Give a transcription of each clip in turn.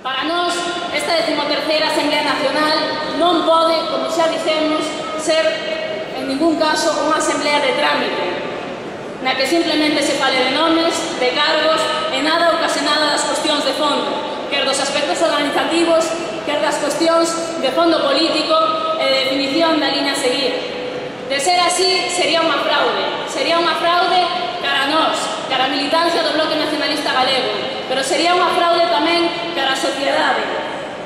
Para nós, esta 13ª Asamblea Nacional non pode, como xa dixemos, ser en ningún caso unha asamblea de trámite, na que simplemente se fale de nomes, de cargos e nada ocasionada das cuestións de fondo, quer dos aspectos organizativos, quer das cuestións de fondo político e de definición da liña a seguir. De ser así, sería unha fraude cara a nós, cara a militancia do Bloque Nacionalista Galego, pero sería unha fraude tamén cara a sociedade,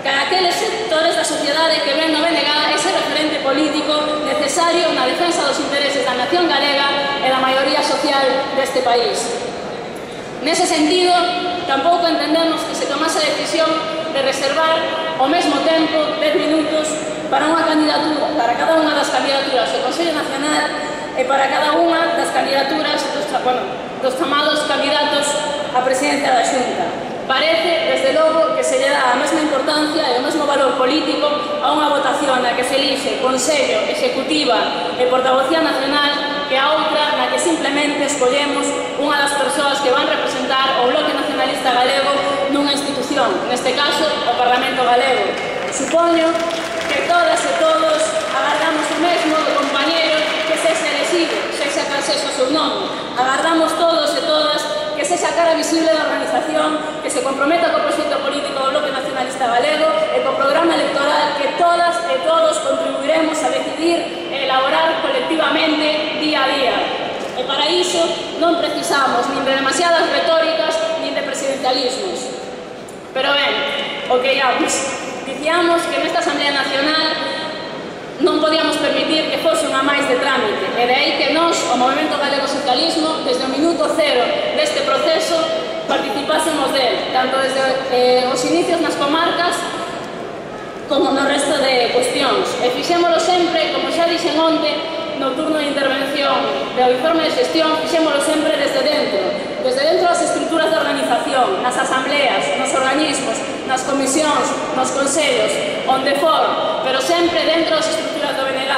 cara a aqueles sectores da sociedade que ven no BNG ese referente político necesario na defensa dos intereses da nación galega e da maioría social deste país. Nese sentido, tampouco entendemos que se tomase a decisión de reservar ao mesmo tempo 10 minutos para unha candidatura, para cada unha das candidaturas do Consello Nacional e para cada unha das candidaturas dos chamados candidatos á presidencia da Xunta. Parece, desde logo, que se lle dá a mesma importancia e o mesmo valor político a unha votación na que se elixe Consello, Executiva e Portavocía Nacional que a outra na que simplemente escollemos unha das persoas que van representar o Bloque Nacionalista Galego nunha institución, neste caso, o Parlamento Galego. Supoño que todas e todos agardamos o mesmo do compañeiro que sexa elegido, sexa cal sexa o seu nome. Agardamos todos e todas que sexa a cara visible da organización, que se comprometa co proxecto político do Bloque Nacionalista Galego e co programa electoral que todas e todos contribuiremos a decidir e elaborar colectivamente día a día. E para iso non precisamos nin de demasiadas retóricas nin de presidencialismos. Pero ben, o que íamos. Dicíamos que nesta Asamblea Nacional non podíamos permitir que fose unha máis de trámite, e de aí que nós, o Movemento Galego Socialismo, desde o minuto cero deste proceso, participásemos del, tanto desde os inicios nas comarcas como no resto de cuestións. E fixémolo sempre, como xa dixen onte, no turno de intervención do informe de xestión, fixémolo sempre desde dentro das estruturas de organización, nas asambleas, nos organismos, nas comisións, nos consellos, onde for, pero sempre dentro das estruturas do BNG.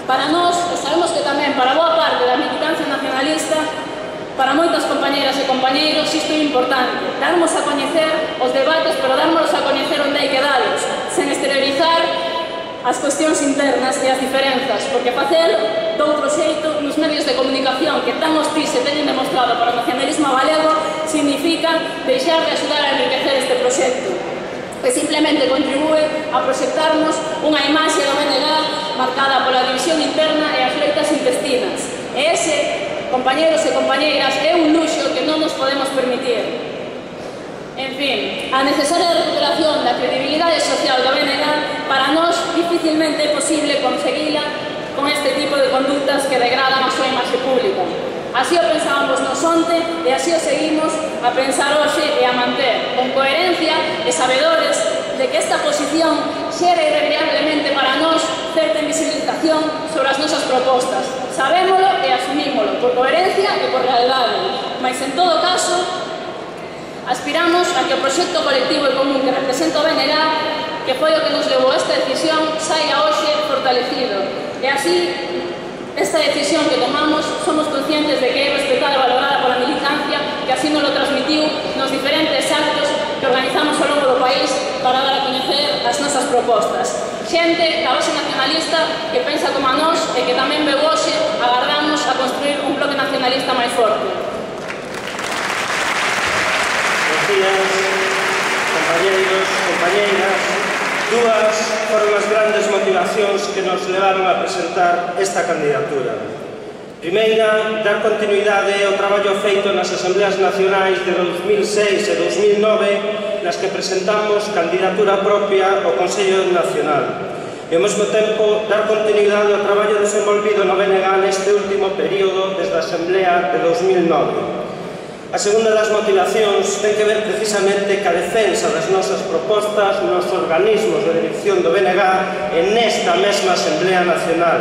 Para nós, e sabemos que tamén para boa parte da militancia nacionalista, para moitas compañeras e compañeiros, isto é importante, darmos a coñecer os debates, pero darmos a coñecer onde hai que dalos, sen exteriorizar as cuestións internas e as diferenzas, porque facer de outro xeito nos medios de comunicación que tan hostís se teñen demostrado para o nacionalismo galego significa deixar de axudar a enriquecer este proxecto, que simplemente contribúe a proxectarnos unha imaxe do BNG marcada pola división interna e as loitas intestinas. E ese, compañeros e compañeiras, é un luxo que non nos podemos permitir. En fin, a necesaria recuperación da credibilidade social do BNG para nós dificilmente é posible conseguila con este tipo de conductas que degradan a súa imaxe pública. Así o pensábamos nos onte e así o seguimos a pensar hoxe e a manter, con coherencia e sabedores de que esta posición xera irremediablemente para nós certa invisibilización sobre as nosas propostas. Sabémolo e asumímolo, por coherencia e por realidade, mas en todo caso aspiramos a que o proxecto colectivo e común que representa o BNG, que foi o que nos levou a esta decisión, saia hoxe fortalecido. E así, esta decisión que tomamos, somos conscientes de que é respetada e valorada pola militancia, que así nos lo transmitiu nos diferentes actos que organizamos ao longo do país para dar a coñecer as nosas propostas. Xente da base nacionalista que pensa como a nós e que tamén veu hoxe agardamos a construir un bloque nacionalista máis forte. Compañeiros, compañeiras, dúas foron as grandes motivacións que nos levaron a presentar esta candidatura. Primeira, dar continuidade ao traballo feito nas Asambleas Nacionais de 2006 e 2009, nas que presentamos candidatura propia ao Consello Nacional. E ao mesmo tempo, dar continuidade ao traballo desenvolvido no BNG neste último período desde a Asamblea de 2009. A segunda das motivacións ten que ver precisamente ca defensa das nosas propostas nos organismos de dirección do BNG e nesta mesma Asamblea Nacional.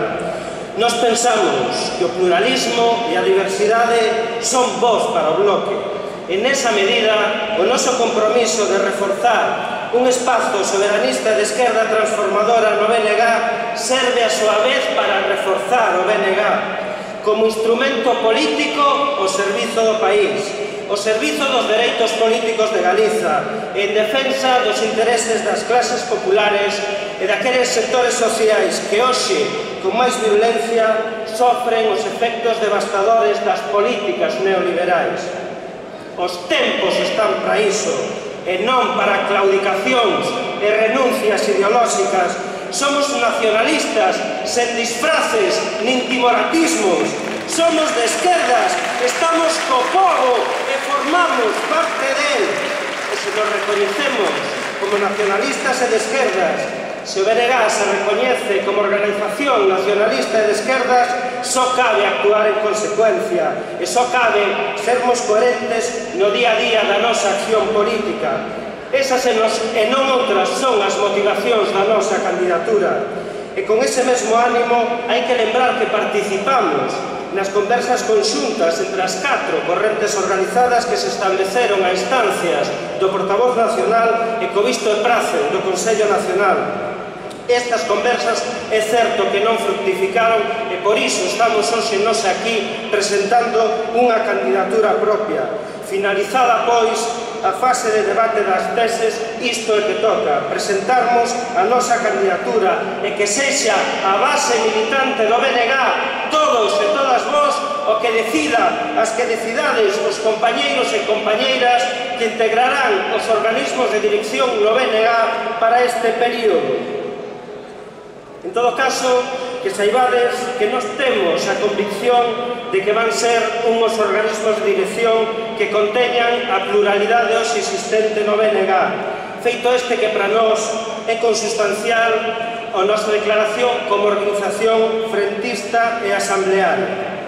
Nós pensamos que o pluralismo e a diversidade son bons para o bloque e nesa medida o noso compromiso de reforzar un espazo soberanista de esquerda transformadora no BNG serve a súa vez para reforzar o BNG como instrumento político ao servizo do país, ao servizo dos dereitos políticos de Galiza, en defensa dos intereses das clases populares e daqueles sectores sociais que hoxe, con máis violencia, sofren os efectos devastadores das políticas neoliberais. Os tempos están para iso, e non para claudicacións e renuncias ideolóxicas. Somos nacionalistas, sen disfraces nin timoratismos. Somos de esquerdas, estamos co povo e formamos parte del. E se nos recoñecemos como nacionalistas e de esquerdas, se o BNG se recoñece como organización nacionalista e de esquerdas, só cabe actuar en consecuencia e só cabe sermos coherentes no día a día da nosa acción política. Esas e non outras son as motivacións da nosa candidatura. E con ese mesmo ánimo hai que lembrar que participamos nas conversas conxuntas entre as 4 correntes organizadas que se estableceron a instancias do portavoz nacional e co visto e prace do Consello Nacional. Estas conversas é certo que non fructificaron e por iso estamos hoxe nós aquí presentando unha candidatura propia. Finalizada, pois, a fase de debate das teses, isto é que toca, presentarmos a nosa candidatura e que sexa a base militante do BNG, todos e todas vós, o que decida, as que decidades os compañeiros e compañeiras que integrarán os organismos de dirección no BNG para este período. En todo caso, que saibades que nós temos a convicción de que van ser unhos organismos de dirección que conteñan a pluralidade hoxe existente no BNG, feito este que para nós é consustancial a nosa declaración como organización frentista e asamblearia.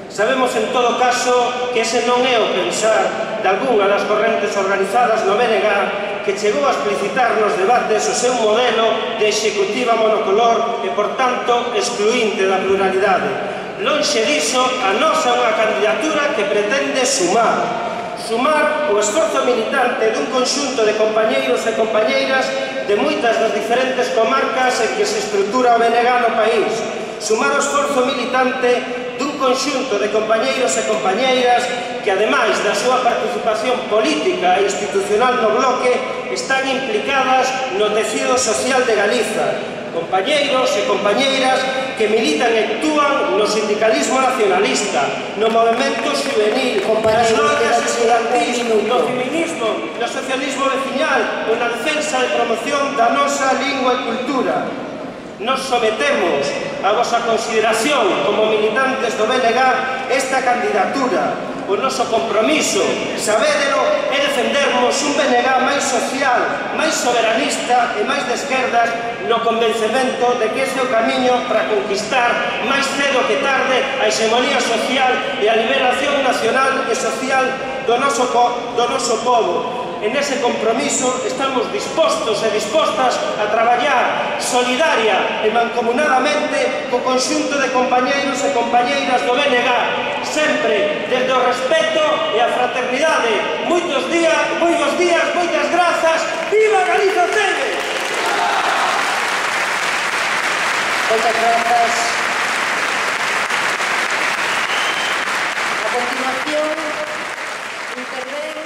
Sabemos, en todo caso, que ese non é o pensar de algunha das correntes organizadas no BNG que chegou a explicitar nos debates o seu modelo de executiva monocolor e, por tanto, excluinte da pluralidade. Lonxe diso, a nosa é unha candidatura que pretende sumar o esforzo militante dun conxunto de compañeiros e compañeiras de moitas das diferentes comarcas en que se estrutura o BNG no país, sumar o esforzo militante dun conxunto de compañeiros e compañeiras que, ademais da súa participación política e institucional no bloque, están implicadas no tecido social de Galiza, compañeiros e compañeiras que militan e actúan no sindicalismo nacionalista, no movimento juvenil, nas loitas estudantis, no feminismo, no socialismo veciñal ou na defensa e promoción da nosa lingua e cultura. Nos sometemos a vosa consideración como militantes do BNG esta candidatura. O noso compromiso, sabédelo, é defendermos un BNG máis social, máis soberanista e máis de esquerdas no convencemento de que ese é o camiño para conquistar máis cedo que tarde a hexemonía social e a liberación nacional e social do noso povo. En ese compromiso estamos dispostos e dispostas a traballar solidaria e mancomunadamente co conxunto de compañeiros e compañeiras do BNG, sempre desde o respeto e a fraternidade. Moitos días, moitas grazas, viva Galiza Cede! Moitas grazas. A continuación, intervén